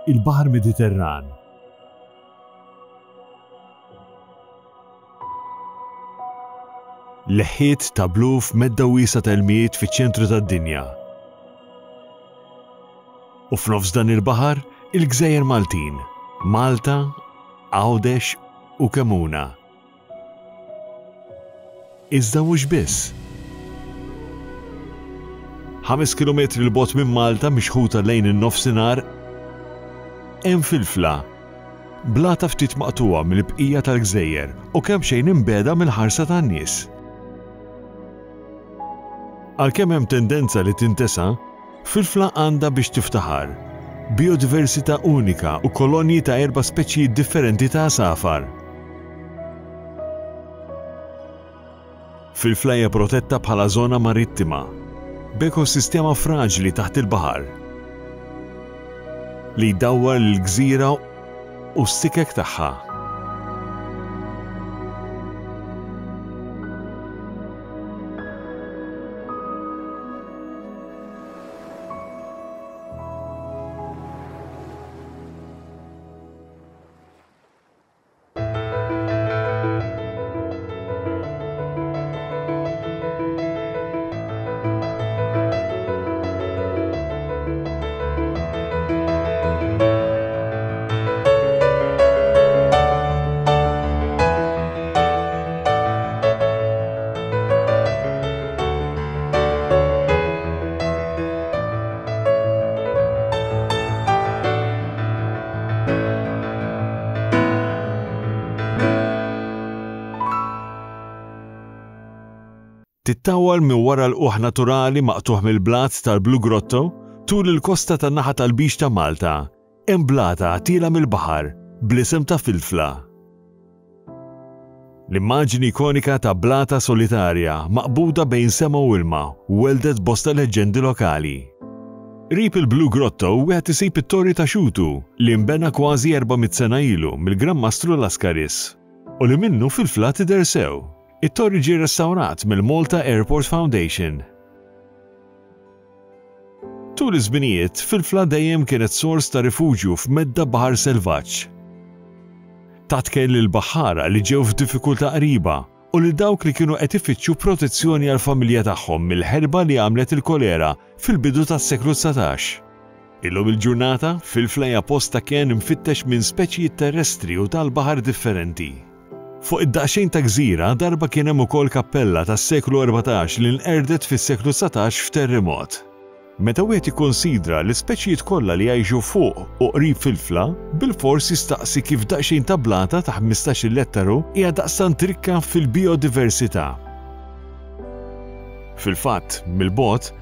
Il-Baħar Mediterran. Leħħiet ta' blu f'medda wiesgħa ta' ilmijiet fiċ-ċentru tad-dinja. U f'nofs dan il-baħar, il-gżejjer Maltin, Malta, Għawdex u Kemuna. Iżda mhux biss. 5 kilometri 'l bogħod minn Malta mixħuta lejn in-Nofsinhar hemm Filfla, blata ftit maqtugħa mill-bqija tal-gżejjer u kemxejn imbiegħda mill-ħarsa tan-nies. Għalkemm hemm tendenza li tintesa, Filfla għandha biex tiftaħar, bijodiversità unika u kolonji ta' erba' speċijiet differenti ta' għasafar. Filfla hija protetta bħala żona marittima, b'ekosistema fraġli taħt il-baħar li jdawwar lill-gżira u s-sikek tagħha. Tittawwal minn wara l-qugħ naturali maqtugħ mill-blat tal-Blue Grotto tul il-kosta tan-naħa tal-Lbiċ ta' Malta, hemm blata tielgħa mill-baħar bl-isem ta' Filfla. L-immaġini ikonika ta' blata solitarja maqbuda bejn sema u ilma welldet bosta leġġendi lokali. Qrib il-Blue Grotto wieħed isib it-Torri ta' Xutu li nbena kważi 400 sena ilu mill-Gran Mastru Lascaris u li minnu Filfla tidher sew. It-torri ġie restawrat mill-Malta Airport Foundation. Tul iż-żminijiet, Filfla dejjem kienet sors ta' rifuġju f'medda baħar selvaġġ. Tat kenn lill-baħħara li ġew f'diffikultà qriba u lil dawk li kienu qed ifittxu protezzjoni għall-familja tagħhom mill-ħerba li għamlet il-kolera fil-bidu tas-seklu 19. Illum il-ġurnata, Filfla hija post ta' kenn imfittex minn speċijiet terrestri u tal-baħar differenti. Fuq id-daqsxejn ta' gżira darba kien hemm ukoll kappella tas-seklu 14 li nqerdet fis-seklu 19 f'terremot. Meta wieħed jikkunsidra l-ispeċijiet kollha li jgħixu fuq u qrib Filfla, bilfors jistaqsi kif daqsxejn ta' blata ta' ħmistax-il ettaru hija daqstant rikka fil-bijodiversità. Fil-fatt, mill-bogħod,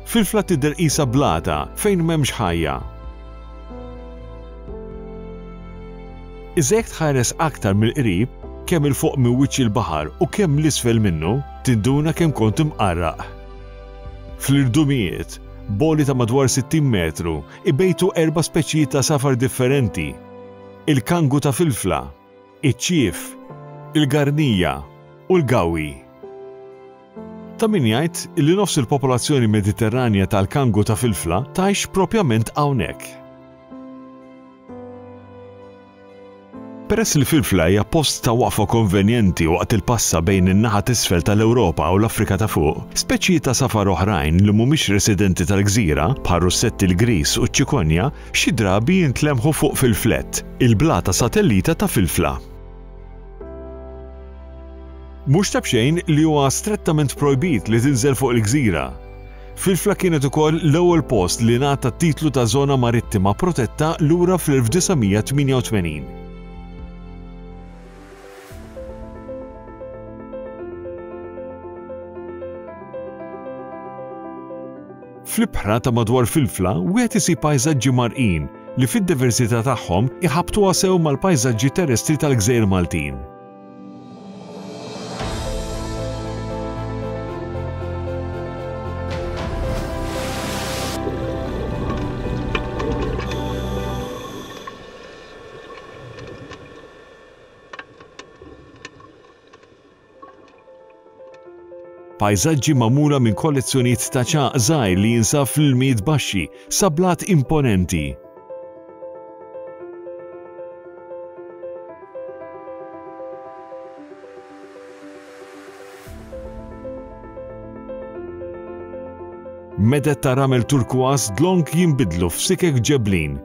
Filfla tidher qisha blata fejn m'hemmx ħajja. Iżda jekk tħares aktar mill-qrib, kemm 'il fuq minn wiċċ il-baħar u kemm 'l isfel minnu, tinduna kemm kont imqarraq. Fl-irdumijiet, b'għoli ta' madwar 60 metru, ibejtu erba' speċijiet ta' għasafar differenti, il-kangu ta' filfla, iċ-ċief, il-garnija u l-gawwi. Ta' min jgħid li nofs il-popolazzjoni Mediterranja tal-kangu ta' filfla tgħix propjament hawnhekk. Peress li Filfla hija post ta' waqfa konvenjenti waqt il-passa bejn in-naħa t'isfel tal-Ewropa u l-Afrika ta' Fuq, speċijiet ta' għasafar oħrajn li mhumiex residenti tal-gżira, bħar-russetti l-griż u ċ-ċikonja, xi drabi jintlemħu fuq Filflett, il-blata satellita ta' Filfla. Mhux ta' b'xejn li huwa strettament projbit li tinżel fuq il-gżira. Filfla kienet ukoll l-ewwel post li ngħata t-titlu ta' żona marittima protetta lura fl-1988. Fl-ibħra ta' madwar Filfla wieħed isib pajżaġġi mgħarrqin li fid-diversità tagħhom iħabbtuha sew mal-pajżaġġi terrestri tal-gżejjer Maltin. Pajżaġġi magħmula minn kollezzjonijiet ta' ċagħaq żgħir li jinsab fl-ilmijiet baxxi sa blat imponenti. Meded ta' ramel turkważ dlonk jinbidlu f'sikek ġeblin.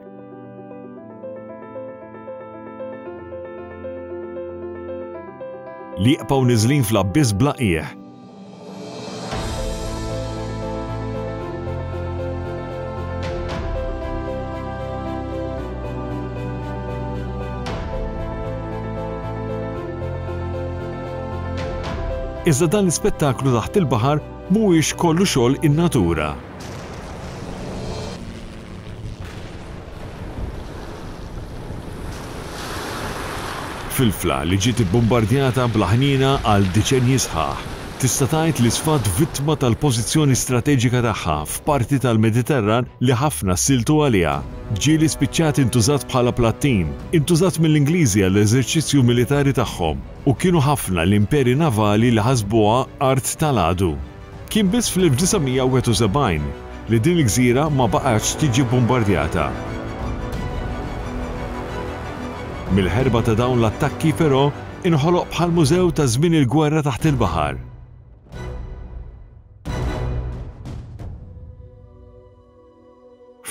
Li jibqgħu niżlin fl-abbiss bla qiegħ. Iżda dan l-ispettaklu taħt il-baħar mhuwiex kollu xogħol in-natura. Filfla li ġiet ibbumbardjata bla ħniena għal diċenji sħaħ, tista' tgħid li sfat vittma tal-pożizzjoni strateġika tagħha f'parti tal-Mediterran li ħafna ssiltu għaliha. Ġieli spiċċat intużat bħala plattin, intużat mill-Ingliżi għall-eżerċizzju militari tagħhom, u kienu ħafna l-imperi navali li ħasbuha art tal-għadu. Kien biss fl-1971 li din il-gżira ma baqgħetx tiġi bbumbardjata. Mill-ħerba ta' dawn l-attakki, però, inħoloq bħal mużew ta' żmien il-gwerra taħt il-baħar.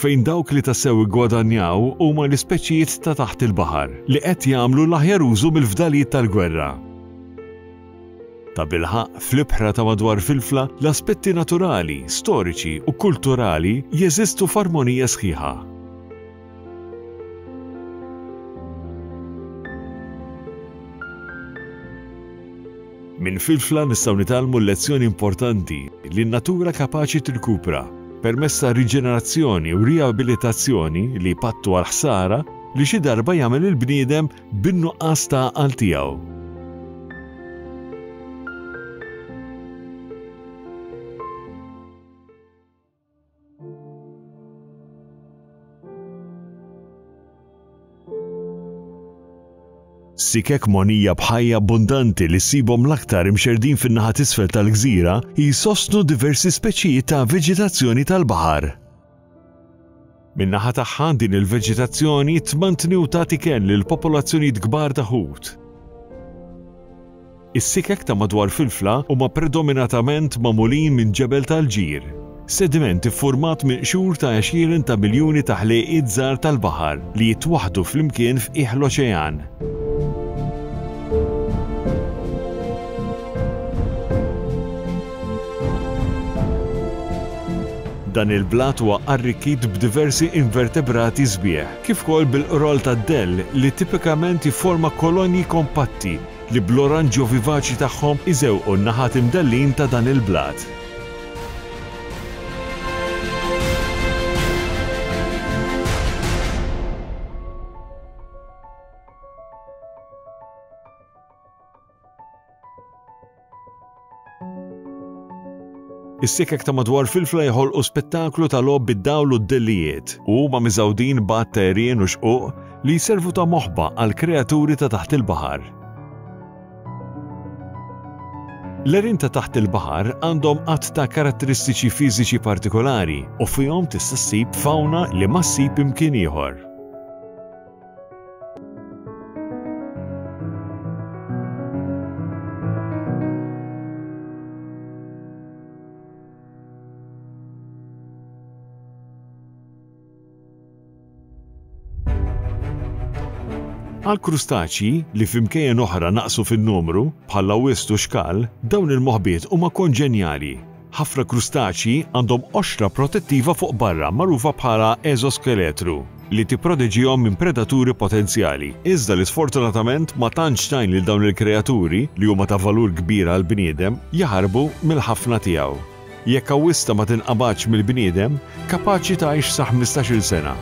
Fejn dawk li tassew iggwadanjaw huma l-ispeċijiet ta' taħt il-baħar li qed jagħmlu l-aħjar użu mill-fdalijiet tal-gwerra. Tabilħaqq, fl-ibħra ta' madwar Filfla, l-aspetti naturali, storiċi u kulturali jeżistu f'armonija sħiħa. Minn Filfla nistgħu nitgħallmu l-lezzjoni importanti li n-natura kapaċi tirkupra permezz ta' riġenerazzjoni u riabilitazzjoni li jpattu għall-ħsara li xi darba jagħmel il-bniedem bin-nuqqas ta' għaqal tiegħu. Sikek mogħnija b'ħajja abbundanti li ssibhom l-aktar imxerrdin fin-naħa t'isfel tal-gżira jsostnu diversi speċijiet ta' veġitazzjoni tal-baħar. Min-naħa tagħha, din il-veġitazzjoni tmantni u tagħti kenn lil popolazzjonijiet kbar ta' ħut. Is-sikek ta' madwar Filfla huma predominatament magħmulin minn ġebel tal-ġir, sediment iffurmat minn qxur ta' għexieren ta' miljuni ta' ħlejqiet żgħar tal-baħar li jitwaħħdu flimkien f'qiegħ l-oċean. Dan il-blat huwa arrikkit b'diversi invertebrati sbieħ, kif ukoll bil-qroll tad-dell li tipikament jifforma kolonji kompatti li bl-oranġjo vivaċi tagħhom iżewqu n-naħat imdellin ta' dan il-blat. Is-sikek ta' madwar Filfla jħolqu spettaklu ta' logħob bid-dawl u d-dellijiet u huma miżgħudin b'għadd ta' għerien u xquq li jservu ta' moħba għal kreaturi ta' taħt il-baħar. L-għerien ta' taħt il-baħar għandhom għadd ta' karatteristiċi fiżiċi partikolari u fihom tista' ssib fawna li ma ssib imkien ieħor. Għall-krustaċji, li f'imkejjen oħra naqsu fin-numru, bħall-awwist u x-xkal, dawn il-moħbiet huma konġenjali. Ħafna krustaċji għandhom qoxra protettiva fuq barra magħrufa bħala eżoskeletru li tipproteġihom minn predaturi potenzjali, iżda li sfortunatament ma tantx tgħin lil dawn il-kreaturi, li huma ta' valur kbir għall-bniedem, jaħarbu mill-ħafna tiegħu. Jekk awwista ma tinqabadx mill-bniedem, kapaċi tgħix sa 15-il sena.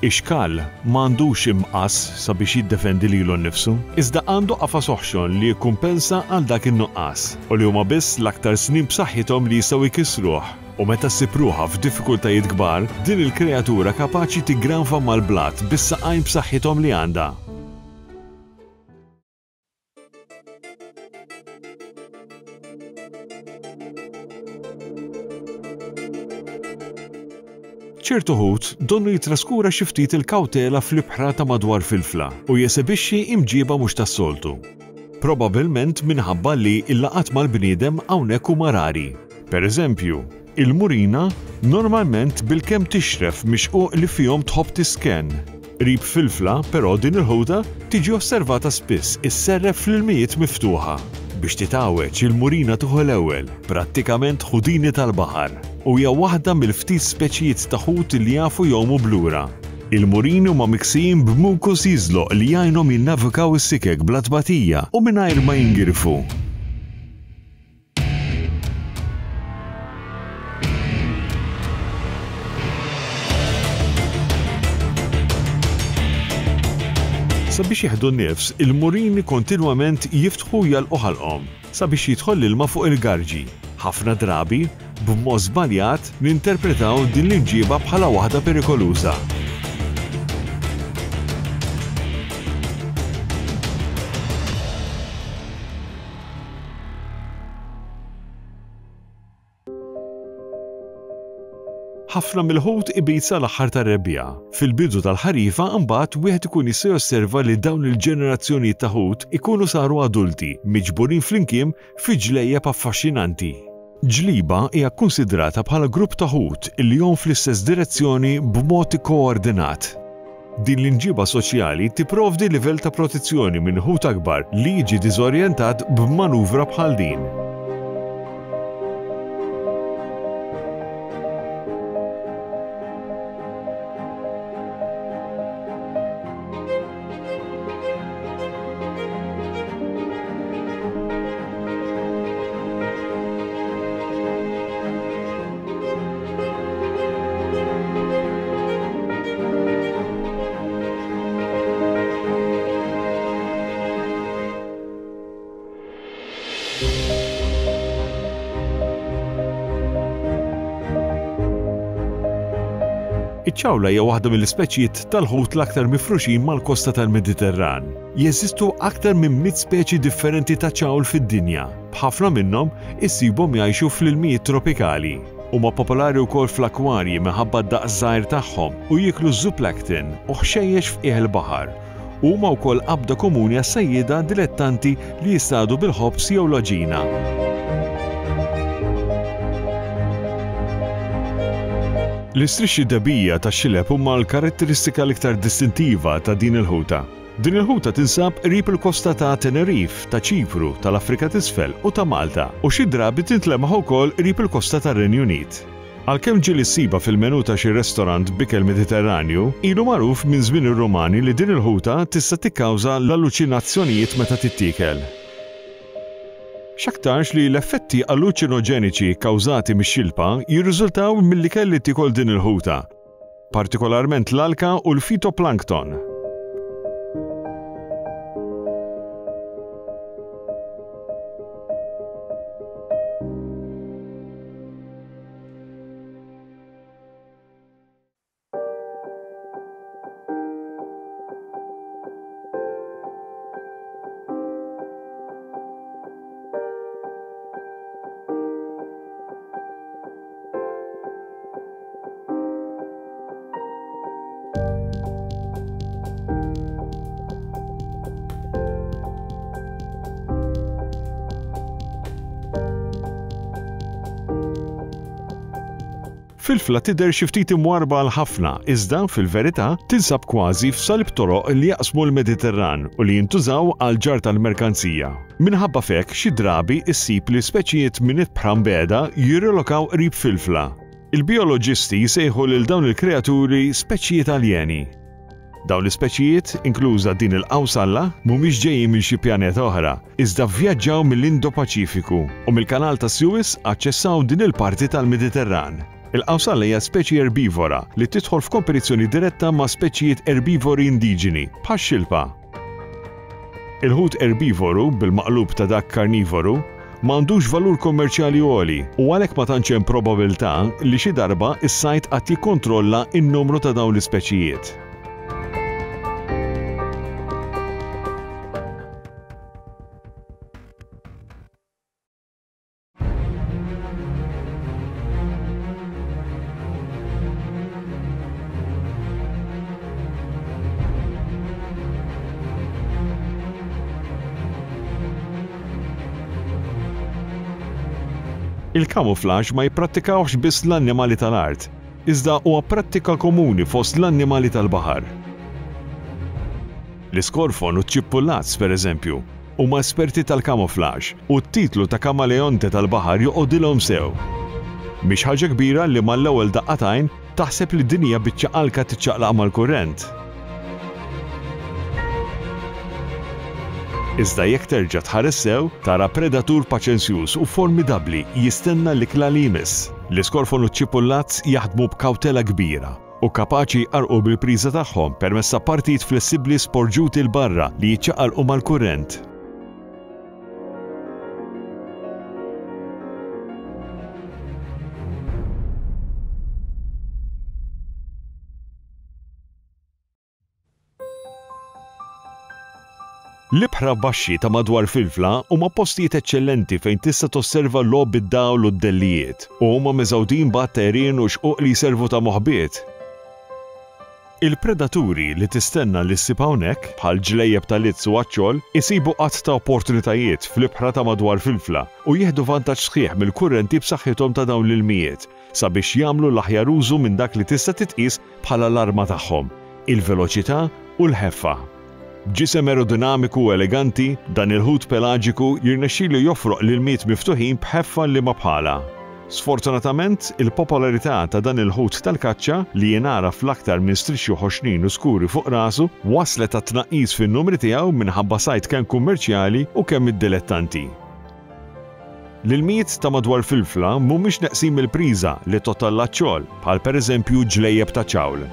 Ix-xkal ma għandux imqass sabiex jiddefendi lilu nnifsu, iżda għandu qafas oħxon li jikkumpensa għal dak in-nuqqas, u li huma biss l-aktar snien b'saħħithom li jistgħu jkissruh. U meta ssib ruħha f'diffikultajiet kbar, din il-kreatura kapaċi tiggranfa mal-blat bis-saqajn b'saħħithom li għandha. Ċertu ħut donnu jitraskura xi ftit il-kawtela fl-ibħra ta' madwar Filfla u jesebixxi imġiba mhux tas-soltu. Probabilment minħabba li l-laqgħat mal-bniedem hawnhekk huma rari. Per eżempju, Il-murina normalment bilkemm tixref mix-xquq li fihom tħobb tiskenn. Qrib Filfla, però, din il-ħuta tiġi osservata spiss isserref fl-ilmijiet miftuħa. Biex titgħawweġ, il-murina tieħu l-ewwel, prattikament ħudini tal-baħar, u hija waħda mill-ftit speċijiet ta' ħut li jafu jgħumu b'lura. Il-murini huma miksijin b'mukus jiżloq li jgħinhom jinnavikaw is-sikek bla tbatija u mingħajr ma jingirfu. Sabiex jieħdu n-nifs, il-murini kontinwament jiftħu u jagħlqu ħalqhom sabiex jidħol l-ilma fuq il-garġi. Ħafna drabi, b'mod żbaljat, ninterpretaw din l-imġieba bħala waħda perikoluża. Ħafna mill-ħut ibid sal-aħħar tar-rebbiegħa. Fil-bidu tal-ħarifa imbagħad wieħed ikun jista' josserva li dawn il-ġenerazzjonijiet ta' ħut ikunu saru adulti, miġburin flimkien fi ġlejjeb affaxxinanti. Ġliba hija kkunsidrata bħala grupp ta' ħut li jgħum fl-istess direzzjoni b'mod ikkoordinat. Din l-imġiba soċjali tipprovdi livell ta' protezzjoni minn ħut akbar li jiġi diżorjentat b'manuvra bħal din. Iċ-ċawla hija waħda mill-ispeċijiet tal-ħut l-aktar mifruxin mal-kosta tal-Mediterran. Jeżistu aktar minn 100 speċi differenti ta' ċawl fid-dinja, b'ħafna minnhom issibhom jgħixu fl-ilmijiet tropikali. Huma popolari wkoll fl-akkwarji minħabba d-daqs żgħir tagħhom u jieklu ż-zooplankton u ħxejjex f'qiegħ il-baħar. Huma wkoll qabda komuni għas-sajjieda dilettanti li jistadu bil-ħobż jew l-għaġina. L-istrixxi dehbija tax-xileb huma l-karatteristika l-iktar distintiva ta' din il-ħuta. Din il-ħuta tinsab qrib il-kosta ta' Tenerife, ta' Ċipru, tal-Afrika t'Isfel u ta' Malta u xi drabi tintlemaħ ukoll qrib il-kosta tar-Renju Unit. Għalkemm ġieli ssibha fil-menù ta' xi restorant b'ikel Mediterranju, ilu magħruf minn żmien ir-Rumani li din il-ħuta tista' tikkawża l-alluċinazzjonijiet meta tittiekel. X'aktarx li l-effetti alluċinoġeniċi kkawżati mix-xilpa jirriżultaw mill-ikel li tiekol din il-ħuta, partikolarment l-alka u l-fitoplankton. Filfla tidher xi ftit imwarrba għal ħafna, iżda, fil-verità, tinsab kważi f'salib toroq li jaqsmu l-Mediterran u li jintużaw għall-ġarr tal-merkanzija. Minħabba f'hekk, xi drabi issib li speċijiet minn ibħra mbiegħda jirrilokaw qrib Filfla. Il-bijoloġisti jsejħu lil dawn il-kreaturi speċijiet aljeni. Dawn l-ispeċijiet, inkluża din il-qawsalla, mhumiex ġejjin minn xi pjaneta oħra, iżda vvjaġġaw mill-Indo-Paċifiku u mill-Kanal ta' Suez aċċessaw din il-parti tal-Mediterran. Il-qawsalla hija speċi erbivora li tidħol f'kompetizzjoni diretta ma' speċijiet erbivori indiġeni, bħax-xilpa. Il-ħut erbivoru, bil-maqlub ta' dak karnivoru, ma għandux valur kummerċjali għoli u għalhekk ma tantx hemm probabilità li xi darba s-sajd qatt jikkontrolla n-numru ta' dawn l-ispeċijiet. Il-camouflage ma jipprattikawhx biss l-annimali tal-art, iżda huwa prattika komuni fost l-annimali tal-baħar. L-iskorfon u ċ-ċippullazz, pereżempju, huma esperti tal-camouflage u t-titlu ta' kamaleonte tal-baħar joqogħdilhom sew. Mhix ħaġa kbira li mal-ewwel daqqa t'għajn taħseb li din hija biċċa alka tiċċaqlaq mal-kurrent. Iżda jekk terġa' tħares sew, tara predatur paċenzjuż u formidabbli jistenna l-ikla li jmiss. L-iskorfon u ċ-ċipullazz jaħdmu b'kawtela kbira u kapaċi jqarrqu bil-priża tagħhom permezz ta' partijiet flessibbli sporġuti 'l barra li jiċċaqalqu mal-kurrent. L-ibħra baxxi ta' madwar Filfla huma postijiet eċċellenti fejn tista' tosserva logħob id-dawl u d-dellijiet, u huma miżgħudin b'għadd ta' għerien u xquq li jservu ta' moħbiet. Il-predaturi li tistenna li ssib hawnhekk, bħal ġlejjeb ta' lizz u għaċċol, isibu għadd ta' opportunitajiet fl-ibħra ta' madwar Filfla u jieħdu vantaġġ sħiħ mill-kurrenti b'saħħithom ta' dawn l-ilmijiet sabiex jagħmlu l-aħjar użu minn dak li tista' titqies bħala l-arma tagħhom, il-veloċità u l-ħeffa. B'ġisem aerodinamiku u eleganti, dan il-ħut pelaġiku jirnexxilu jofroq l-ilmijiet miftuħin b'ħeffa liema bħalha. Sfortunatament, il-popolarità ta' dan il-ħut tal-kaċċa, li jingħaraf l-aktar minn strixxi ħoxnin u skuri fuq rasu, wasslet għat-tnaqqis fin-numri tiegħu minħabba sajd kemm kummerċjali u kemm mid-dilettanti. L-ilmijiet ta' madwar Filfla mhumiex neqsin mill-priża li tgħodd għall-aċċol, bħal pereżempju ġlejjeb ta' ċawl.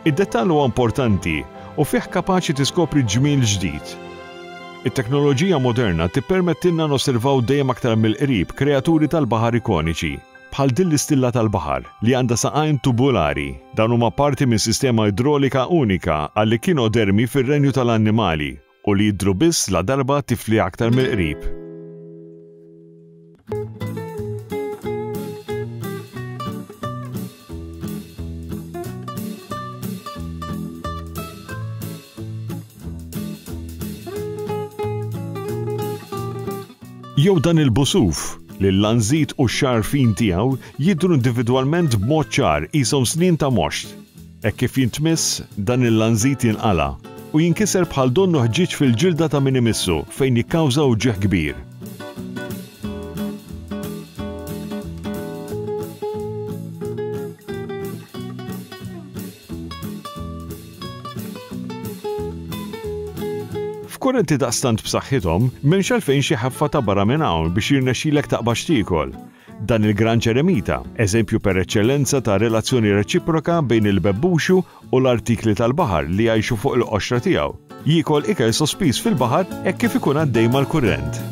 Id-dettall huwa importanti u fih kapaċi tiskopri ġmiel ġdid. It-teknoloġija moderna tippermettilna nosservaw dejjem aktar mill-qrib kreaturi tal-baħar ikoniċi, bħal din l-istilla tal-baħar li għandha saqajn tubulari. Dawn huma parti minn sistema idrolika unika għall-ekinodermi fir-renju tal-annimali u li jidhru biss ladarba tifli aktar mill-qrib. Jew dan il-busuf, li l-lanżit u x-xagħar fin tiegħu jidhru individwalment b'mod ċar qishom snien ta' moxt. Hekk kif jintmiss, dan il-lanżit jinqala' u jinkiser bħal donnu ħġieġ fil-ġilda ta' min imissu fejn jikkawża uġigħ kbir. F'kurrenti daqstant b'saħħithom, m'hemmx għalfejn xi ħeffa ta' barra minn hawn biex jirnexxilek taqbad x'tiekol. Dan il-Gran Ċeremita, eżempju per eċċellenza ta' relazzjoni reċiproka bejn il-bebbuxu u l-artikli tal-baħar li jgħixu fuq il-qoxra tiegħu, jiekol ikel sospiż fil-baħar hekk kif ikun għaddej mal-kurrent.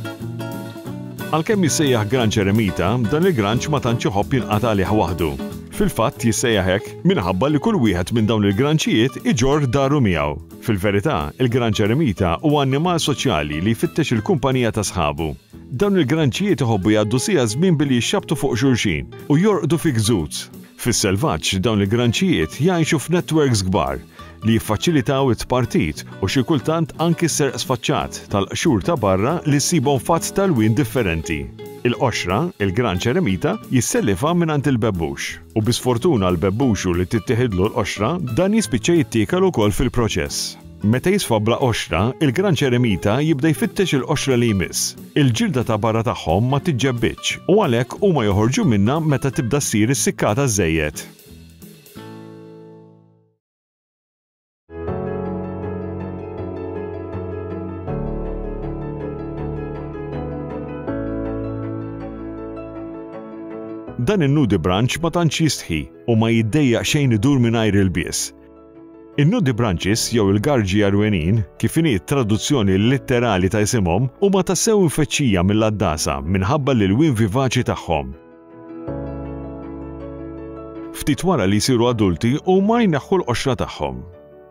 Għalkemm jissejjaħ Gran Ċeremita, dan il-granċ ma tantx iħobb jinqata' għalih waħdu. Fil-fatt jissejjaħ hekk minħabba li kull wieħed minn dawn il-granċijiet iġorr daru miegħu. Fil-verità, il-Gran Ċeremita huwa annimal soċjali li jfittex il-kumpanija ta' sħabu. Dawn il-granċijiet iħobbu jgħaddu siegħa żmien billi jixxabbtu fuq xulxin u jorqdu fi gzuz. Fis-selvaġġ, dawn il-granċijiet jgħixu f'netwerks kbar li jiffaċilitaw it-tpartit u xi kultant anki s-serq sfaċċat tal-qxur ta' barra li ssibhom f'għadd ta' lwien differenti. Il-qoxra, il-granċ eremita, jissellifha mingħand il-bebbux. U bi sfortuna għall-bebbuxu li tittieħidlu l-qoxra, dan jispiċċa jittiekel ukoll fil-proċess. Meta jisfa bla qoxra, il-granċ eremita jibda jfittex il-qoxra li jmiss. Il-ġilda ta' barra tagħhom ma tiġġebbidx u għalhekk huma joħorġu minnha meta tibda ssir issikkata żżejjed. Dan in-nudibranch ma tantx jistħi u ma jiddejjaq xejn idur mingħajr ilbies. In-nudibranches jew il-garġi għarwenin, kif inhi t-traduzzjoni litterali ta' isimhom, huma tassew imfeċċija mill-għaddasa minħabba l-ilwien vivaċi tagħhom. Ftit wara li jsiru adulti huma jneħħu l-qoxra tagħhom.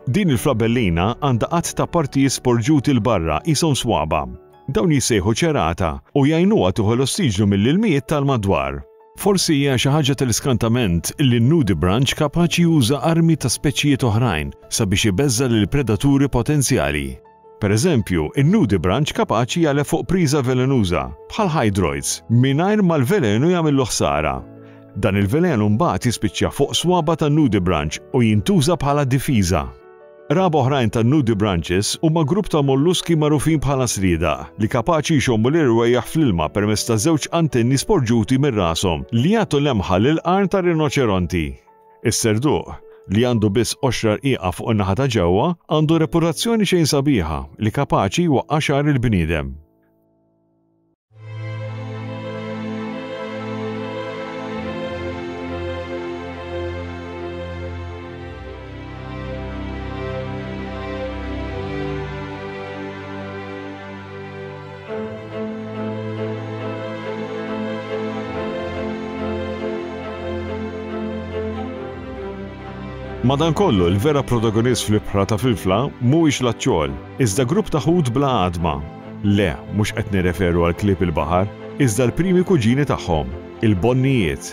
Din il-flabellina għandha għadd ta' partijiet sporġuti 'l barra qishom swaba'. Dawn jissejħu ċerata u jgħinuha tieħu l-ossiġnu mill-ilmijiet tal-madwar. Forsi hija xi ħaġa tal-iskantament li n-nudibranch kapaċi juża armi ta' speċijiet oħrajn sabiex ibeżża' lil predaturi potenzjali. Pereżempju, in-nudibranch kapaċi jagħlef fuq priża velenuża, bħal hydroids, mingħajr ma l-velenu jagħmillu ħsara. Dan il-velenu mbagħad jispiċċa fuq swaba' tan-nudibranch u jintuża bħala difiża. Qraba oħrajn tan-nudibranches huma grupp ta' molluski magħrufin bħala sriedaq, li kapaċi jxommu l-irwejjaħ fl-ilma permezz ta' żewġ antenni sporġuti minn rashom li jagħtu lemħa lill-qarn tar-rinoċeronti. Is-serduq, li għandu biss qoxra rqiqa fuq in-naħa ta' ġewwa, għandu reputazzjoni xejn sabiħa li kapaċi jwaqqa' xagħar il-bniedem. Madankollu, il-vera protagonist fl-ibħra ta' Filfla mhuwiex l-aċċol, iżda grupp ta' ħut bla għadma. Le, mhux qed nirreferu għal klieb il-baħar, iżda l-primi kuġini tagħhom, il-bonnijiet.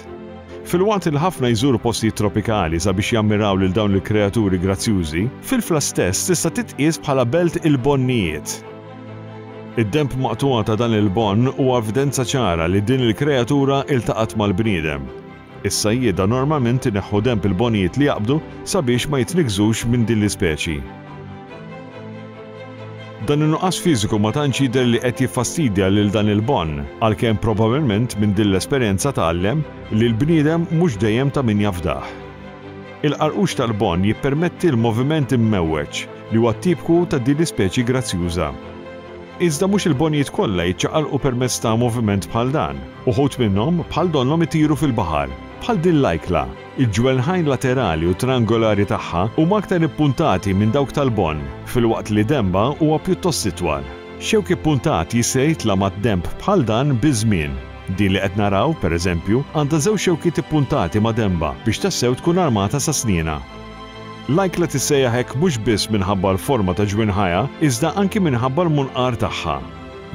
Filwaqt li ħafna jżuru postijiet tropikali sabiex jammiraw lil dawn il-kreaturi grazzjużi, Filfla stess tista' titqies bħala belt il-bonnijiet. Id-denb maqtugħa ta' dan il-bonn huwa evidenza ċara li din il-kreatura iltaqgħet mal-bniedem. Is-sajjieda normalment ineħħu denb il-bonijiet li jaqbdu sabiex ma jitniggżux minn din l-ispeċi. Dan in-nuqqas fiżiku ma tantx jidher li qed jiffastidja lil dan il-bon, għalkemm probabilment minn din l-esperjenza tgħallem li l-bniedem mhux dejjem ta' min jafdah. Il-qarqux tal-bon jippermetti l-moviment immewweġ li huwa tipku ta' din l-ispeċi grazzjuża. Iżda mhux il-bonijiet kollha jiċċaqalqu permezz ta' moviment bħal dan. Uħud minnhom bħal donnhom itiru fil-baħar, bħal din l-ajkla. Il-ġwenħajn laterali u triangolari tagħha huma aktar ippuntati minn dawk tal-bonn, filwaqt li denbha huwa pjuttost itwal. Xewk ippuntat jista' jitla' mad-denb bħal dan biż-żmien. Din li qed naraw, pereżempju, għandha żewġ xewkiet ippuntati ma' denbha biex tassew tkun armata sa snienha. L-ajkla tissejjaħ hekk mhux biss minħabba l-forma ta' ġwinħajha iżda anki minħabba l-munqar tagħha.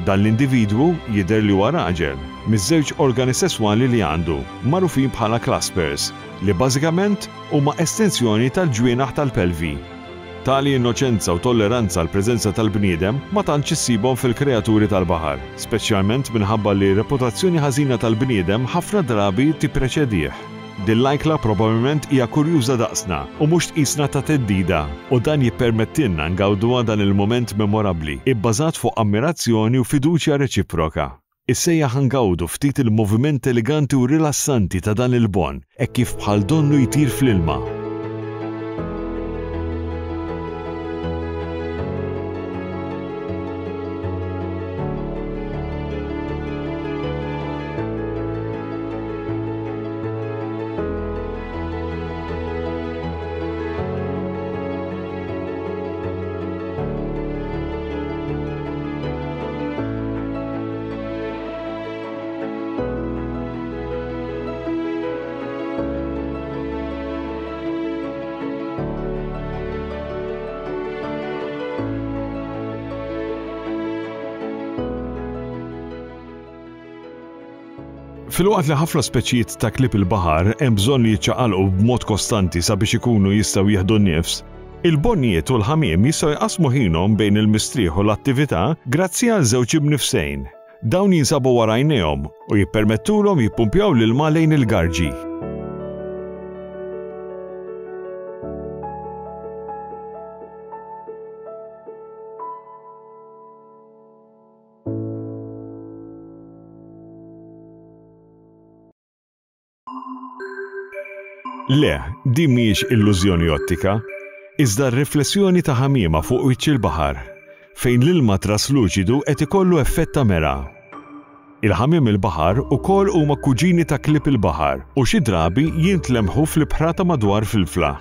Dan l-individwu jidher li huwa raġel, miż-żewġ organi sesswali li għandu, magħrufin bħala claspers, li bażikament huma estensjoni tal-ġwienaħ tal-pelvi. Tali innoċenza u tolleranza għall-preżenza tal-bniedem ma tantx issibhom fil-kreaturi tal-baħar, speċjalment minħabba li r-reputazzjoni ħażina tal-bniedem ħafna drabi tippreċedih. Din l-ajkla probabbilment hija kurjuża daqsna u mhux tqisna ta' theddida u dan jippermettilna ngawduha dan il-mument memorabbli ibbażat fuq ammirazzjoni u fiduċja reċiproka. Issejjaħ ngawdu ftit il-moviment eleganti u rilassanti ta' dan il-bonn hekk kif bħal donnu jtir fl-ilma. Filwaqt li ħafna speċijiet ta' klieb il-baħar hemm bżonn li jiċċaqalqu b'mod kostanti sabiex ikunu jistgħu jieħdu n-nifs, il-bonnijiet u l-ħamiem jistgħu jqassmu ħinhom bejn il-mistrieħ u l-attività grazzi għal żewġ imnifsejn. Dawn jinsabu wara għajnejhom u jippermettulhom jippumpjaw l-ilma lejn il-garġi. Le, din mhijiex illużjoni ottika, iżda r-riflessjoni ta' ħamiema fuq wiċċ il-baħar, fejn l-ilma trasluċidu qed ikollu effett ta' mera. Il-ħamiem il-baħar ukoll huma kuġini ta' klieb il-baħar u xi drabi jintlemħu fl-ibħra ta' madwar Filfla.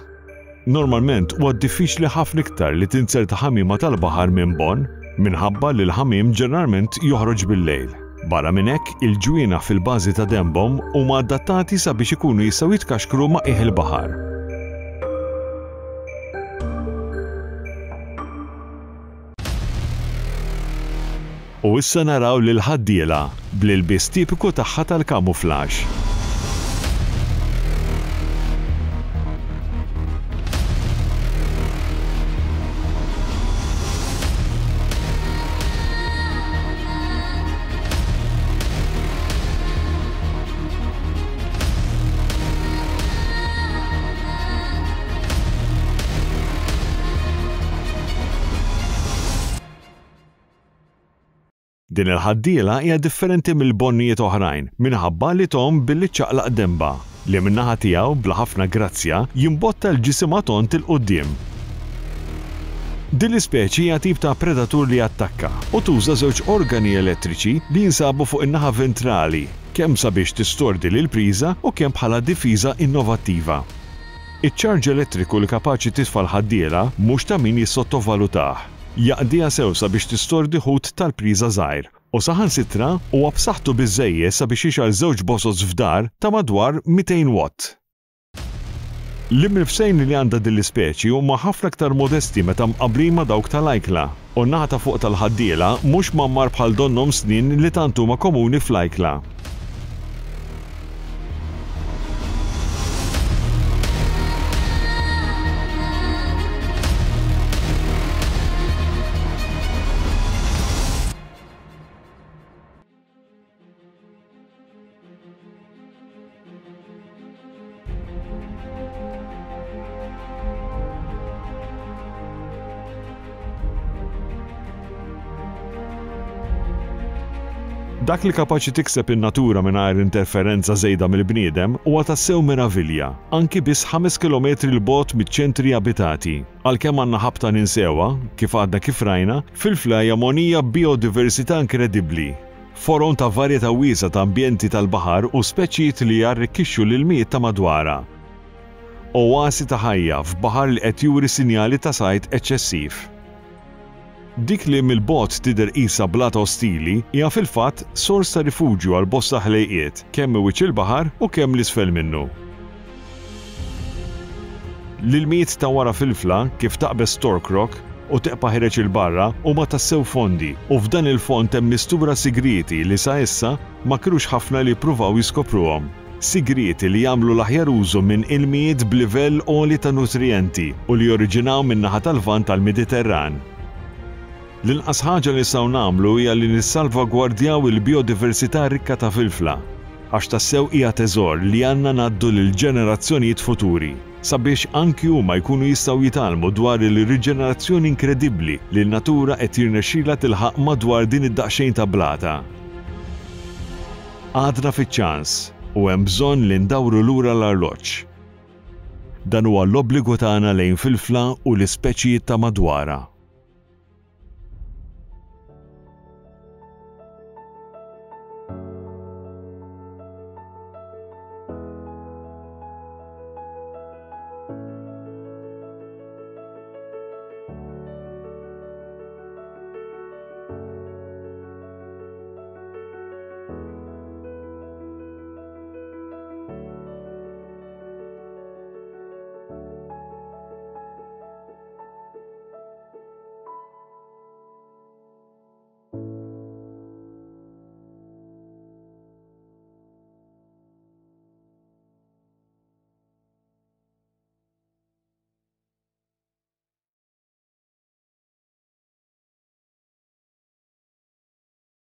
Normalment huwa diffiċli ħafna iktar li tinzerta ħamiema tal-baħar minn bon, minħabba li l-ħamiem ġeneralment joħroġ bil-lejl. Barra minn hekk, il-ġwienaħ fil-bażi ta' denbhom huma adattati sabiex ikunu jistgħu jitkaxkru ma' qiegħ il-baħar. U issa naraw lill-ħaddiela bl-ilbies tipiku tagħha tal-camouflage. Din il-ħaddiela hija differenti mill-bonnijiet oħrajn minħabba li tgħum billi ċċaqlaq denbha, li min-naħa tiegħu bla ħafna grazzja jimbotta l-ġisimha tond 'il quddiem. Din l-ispeċi hija tip ta' predatur li jattakka u tuża żewġ organi elettriċi li jinsabu fuq in-naħa ventrali kemm sabiex tistordi lill-priża u kemm bħala difiża innovattiva. Iċ-ċarġ elettriku li kapaċi titfa' l-ħaddiela mhux ta' min jissottovalutah. Jaqdiha sew sabiex tistordi ħut tal-priża żgħir u saħansitra huwa b'saħħtu biżżejjed sabiex jixgħel żewġ bozoz f'dar ta' madwar 200 watt. L-imnifsejn li għandha din l-ispeċi huma ħafna aktar modesti meta mqabblin ma' dawk tal-ajkla, u n-naħa ta' fuq tal-ħaddiela mhux mgħammar bħal donnhom snien li tant huma komuni fl-ajkla. Dak li kapaċi tikseb in-natura mingħajr interferenza żejda mill-bniedem huwa tassew meravilja, anki biss 5 kilometri 'l bogħod miċ-ċentri abitati. Għalkemm għandna ħabta ninsewha, kif għadna kif rajna, Filfla hija mogħnija b'bijodiversità inkredibbli, forom ta' varjetà wiesgħa ta' ambjenti tal-baħar u speċijiet li jarrikkixxu l-ilmijiet ta' madwarha. Oasi ta' ħajja f'baħar li qed juri sinjali ta' sajd eċċessiv. Dik li mill-bogħod tidher qisha blata ostili hija fil-fatt sors ta' rifuġju għal bosta ħlejqiet, kemm minn wiċċ il-baħar u kemm 'l isfel minnu. L-ilmijiet ta' wara Filfla, kif taqbeż Stork Rock u teqpa' ħireġ 'il barra, huma tassew fondi u f'dan il-fond hemm mistura sigrieti li sa issa ma kinux ħafna li ppruvaw jiskopruhom. Sigrieti li jagħmlu l-aħjar użu minn ilmijiet b'livell għoli ta' nutrijenti u li joriġinaw min-naħa tal-Lvant tal-Mediterran. L-inqas ħaġa li nistgħu nagħmlu hija li nissalvagwardjaw il-bijodiversità rikka ta' Filfla, għax tassew hija teżor li għandna ngħaddu lill-ġenerazzjonijiet futuri, sabiex anki huma jkunu jistgħu jitgħallmu dwar il-riġenerazzjoni inkredibbli li n-natura qed jirnexxilha tilħaq madwar din id-daqsxejn ta' blata. Għadna fiċ-ċans u hemm bżonn li ndawru lura l-arloġġ. Dan huwa l-obbligu tagħna lejn Filfla u l-ispeċijiet ta' madwarha.